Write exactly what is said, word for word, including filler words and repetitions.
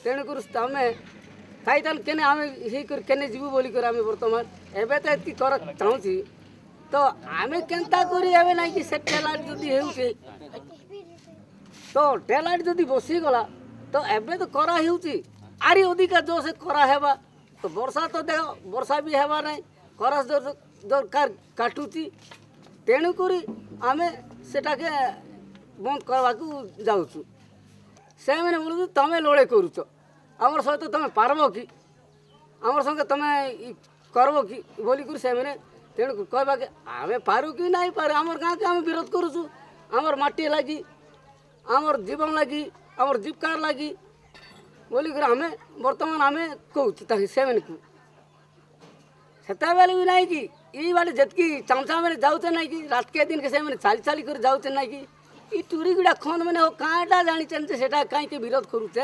ତେଣୁକରି ତମେ ଖାଇତାଲ କେନେ ଆମେ ହେଇକରି କେନେ ଯିବୁ ବୋଲିକରି ଆମେ ବର୍ତ୍ତମାନ ଏବେ ତ ଏତିକି କର ଚାହୁଁଛି। ତ ଆମେ କେନ୍ତା କରି ଏବେ ନାଇଁ କି ସେ ଟେଲାଇଟ୍ ଯଦି ହେଉଛି, ତ ଟେଲାଇଟ୍ ଯଦି ବସିଗଲା, ତ ଏବେ ତ କରା ହେଉଛି, ଆରି ଅଧିକା ଜୋର କରା ହେବା। ତ ବର୍ଷା ତ ଦେହ ବର୍ଷା ବି ହେବା ନାହିଁ, ଖରା ଦରକାର କାଟୁଛି। ତେଣୁକରି ଆମେ ସେଟାକେ ବନ୍ଦ କରିବାକୁ ଯାଉଛୁ। ସେମାନେ ବୋଲୁଛୁ, ତମେ ଲଢ଼େଇ କରୁଛ ଆମର ସହିତ, ତମେ ପାରବ କି, ଆମର ସଙ୍ଗେ ତମେ କରବ କି ବୋଲିକରି ସେମାନେ। ତେଣୁ କହିବା କି ଆମେ ପାରୁ କି ନାଇଁ ପାରୁ, ଆମର ଗାଁକେ ଆମେ ବିରୋଧ କରୁଛୁ, ଆମର ମାଟି ଲାଗି, ଆମର ଜୀବନ ଲାଗି, ଆମର ଜୀବିକାର ଲାଗି ବୋଲିକରି ଆମେ ବର୍ତ୍ତମାନ ଆମେ କହୁଛୁ ତାকে ସେମାନଙ୍କୁ। ସେତେବେଳେ ବି ନାଇଁ କି ଏଇ ବାଟେ ଯେତିକି ଚାମଚା ମାନେ ଯାଉଛେ ନାଇଁ କି, ରାତିକେ ଦିନକେ ସେମାନେ ଚାଲି ଚାଲି କରି ଯାଉଛେ ନାଇଁ କି, ଇ ଟୁରି ଗୁଡ଼ା ଖନ୍ ମାନେ କାଁଟା ଜାଣିଛନ୍ତି, ସେଟା କାହିଁକି ବିରୋଧ କରୁଛେ?